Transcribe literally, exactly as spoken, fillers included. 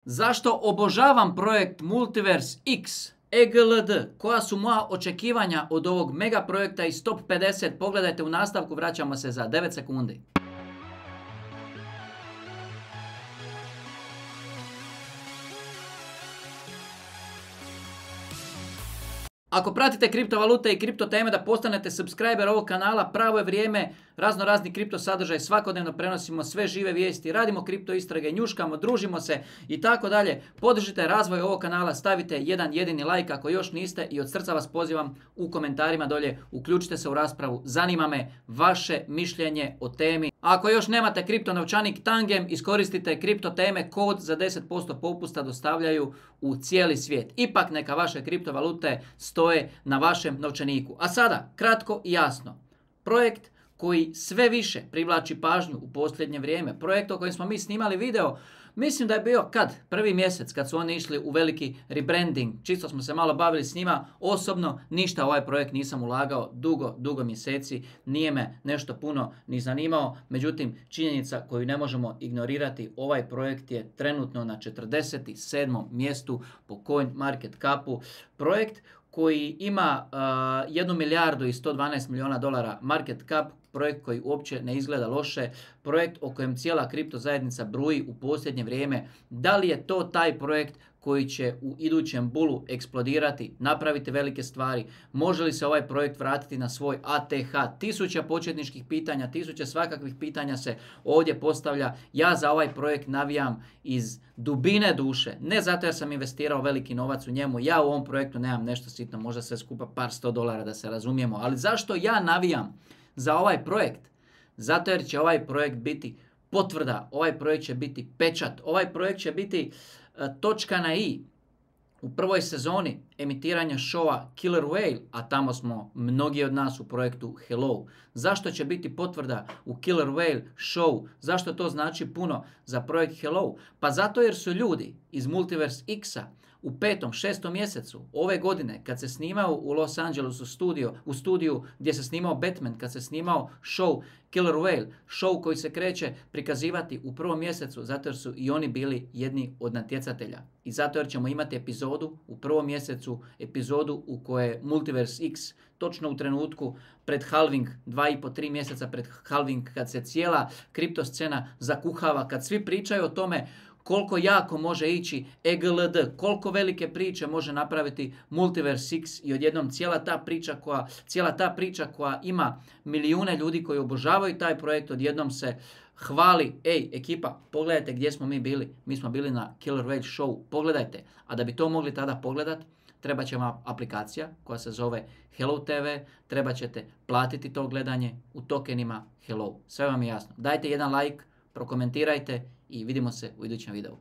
Zašto obožavam projekt Multiverse X E G L D? Koja su moja očekivanja od ovog mega projekta iz top pedeset? Pogledajte u nastavku, vraćamo se za devet sekundi. Ako pratite kriptovalute i kripto teme da postanete subscriber ovog kanala, pravo je vrijeme, razno razni kripto sadržaj, svakodnevno prenosimo sve žive vijesti, radimo kripto istrage, njuškamo, družimo se i tako dalje. Podržite razvoj ovog kanala, stavite jedan jedini like ako još niste i od srca vas pozivam u komentarima dolje, uključite se u raspravu, zanima me vaše mišljenje o temi. Ako još nemate kripto novčanik Tangem, iskoristite kripto teme, kod za deset posto popusta dostavljaju u cijeli svijet. Ipak neka vaše kriptovalute stoje na vašem novčaniku. A sada, kratko i jasno, projekt koji sve više privlači pažnju u posljednje vrijeme, projekt o kojem smo mi snimali video, mislim da je bio kad? Prvi mjesec kad su oni išli u veliki rebranding, čisto smo se malo bavili s njima, osobno ništa ovaj projekt nisam ulagao dugo, dugo mjeseci, nije me nešto puno ni zanimao, međutim činjenica koju ne možemo ignorirati, ovaj projekt je trenutno na četrdeset sedmom mjestu po Coin Market Capu, projekt koji ima uh, jednu milijardu i sto dvanaest milijuna dolara market cap, projekt koji uopće ne izgleda loše, projekt o kojem cijela kripto zajednica bruji u posljednje vrijeme. Da li je to taj projekt koji će u idućem bulu eksplodirati, napraviti velike stvari? Može li se ovaj projekt vratiti na svoj A T H? Tisuća početničkih pitanja, tisuće svakakvih pitanja se ovdje postavlja. Ja za ovaj projekt navijam iz dubine duše. Ne zato jer sam investirao veliki novac u njemu. Ja u ovom projektu nemam nešto sitno, možda sve skupa par sto dolara da se razumijemo. Ali zašto ja navijam za ovaj projekt? Zato jer će ovaj projekt biti potvrda, ovaj projekt će biti pečat, ovaj projekt će biti uh, točka na i u prvoj sezoni emitiranja showa Killer Whale, a tamo smo mnogi od nas u projektu Hello. Zašto će biti potvrda u Killer Whale show? Zašto to znači puno za projekt Hello? Pa zato jer su ljudi iz Multiverse X-a u petom, šestom mjesecu ove godine, kad se snimao u Los Angelesu studio, u studiju gdje se snimao Batman, kad se snimao show Killer Whale, show koji se kreće prikazivati u prvom mjesecu, zato jer su i oni bili jedni od natjecatelja. I zato jer ćemo imati epizodu u prvom mjesecu, epizodu u kojoj Multiverse X, točno u trenutku pred halving, dva i po, tri mjeseca pred halving, kad se cijela kripto scena zakuhava, kad svi pričaju o tome koliko jako može ići E G L D, koliko velike priče može napraviti Multiverse X i odjednom cijela ta priča koja, cijela ta priča koja ima milijune ljudi koji obožavaju taj projekt, odjednom se hvali, ej ekipa, pogledajte gdje smo mi bili, mi smo bili na Killer Whale show, pogledajte. A da bi to mogli tada pogledat, treba će vam aplikacija koja se zove Hello T V, treba ćete platiti to gledanje u tokenima Hello. Sve vam je jasno. Dajte jedan like, prokomentirajte i vidimo se u idućem videu.